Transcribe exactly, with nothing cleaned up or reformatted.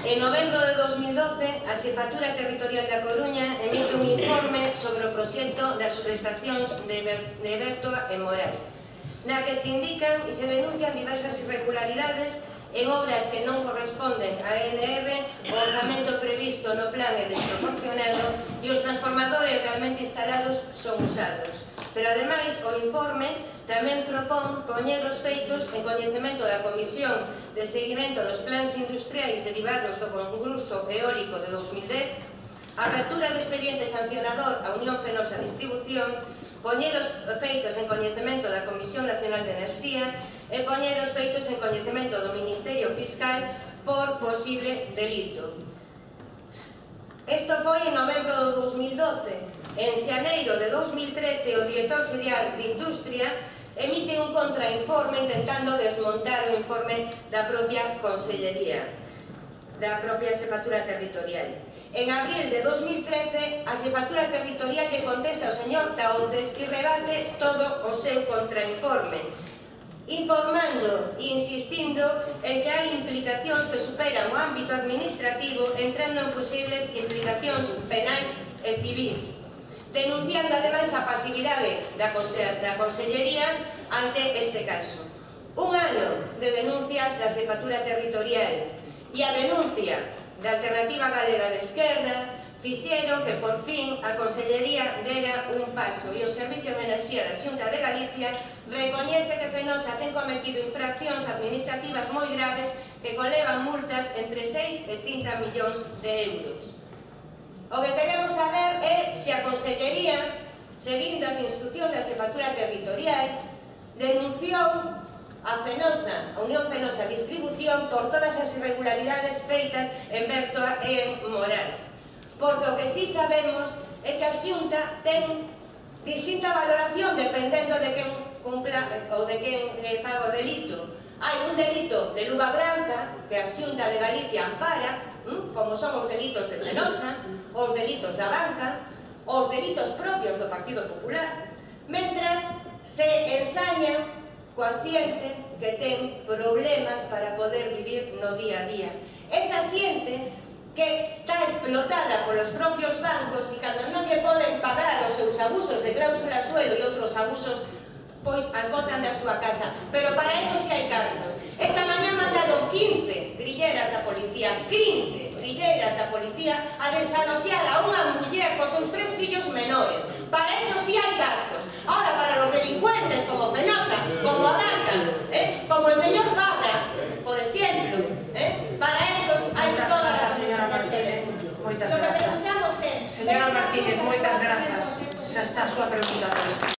En novembro de dos mil doce, a Xefatura Territorial da Coruña emite un informe sobre o proxecto das subestacións de Bertoa e Morais, na que se indican e se denuncian diversas irregularidades en obras que non corresponden a N R, o orzamento previsto no plan é desproporcionado e os transformadores realmente instalados son usados. Pero, ademais, o informe tamén propón poñer os feitos en coñecemento da Comisión de Seguimento dos Plans Industriais derivados do concurso eólico de dos mil dez, a apertura do expediente sancionador a Unión Fenosa Distribución, poñer os feitos en coñecemento da Comisión Nacional de Enerxía e poñer os feitos en coñecemento do Ministerio Fiscal por posible delito. Isto foi en novembro de dos mil doce. En xaneiro de dos mil trece, o director xeral de Industria emite un contrainforme intentando desmontar o informe da propia Consellería, da propia Xefatura Territorial. En abril de dos mil trece, a Xefatura Territorial lle contesta ao señor Taonces e rebate todo o seu contrainforme, informando e insistindo en que hai implicacións que superan o ámbito administrativo, entrando en posibles implicacións penais e civís, denunciando ademais a pasividade da Consellería ante este caso. Un ano de denuncias da Xefatura Territorial e a denuncia da Alternativa Galega de Esquerda fixeron que, por fin, a Consellería dera un paso e o Servicio de Enerxía da Xunta de Galicia recoñece que Fenosa ten cometido infraccións administrativas moi graves que conlevan multas entre seis e trinta millóns de euros. O que queremos saber é se a Consellería, seguindo as instruccións da Xefatura Territorial, denunciou a Fenosa, a Unión Fenosa Distribución, por todas as irregularidades feitas en Bertoa e en Morais. Porque o que sí sabemos é que a Xunta ten distinta valoración dependendo de quen cumpla ou de quen faga o delito. Hai un delito de luva branca que a Xunta de Galicia ampara, como son os delitos de Fenosa, os delitos da banca, os delitos propios do Partido Popular, mentras se ensaña coa xente que ten problemas para poder vivir no día a día. Esa xente que está explotada polos propios bancos e cando non lle poden pagar os seus abusos de cláusula suelo e outros abusos, pois as botan da súa casa. Pero para eso si hai cartos. Esta mañá mandaron quince grilleras da policía, quince grilleras da policía a desaloxar a unha muller cos seus tres fillos menores. Para eso si hai cartos. Ahora, para los delincuentes como Fenosa, como a banca, eh, como el señor Fabra, por ejemplo, eh, para esos hai toda a responsabilidade que tenemos. Lo que preguntamos é... Señora Martínez, moitas grazas. Xa está a súa pregunta.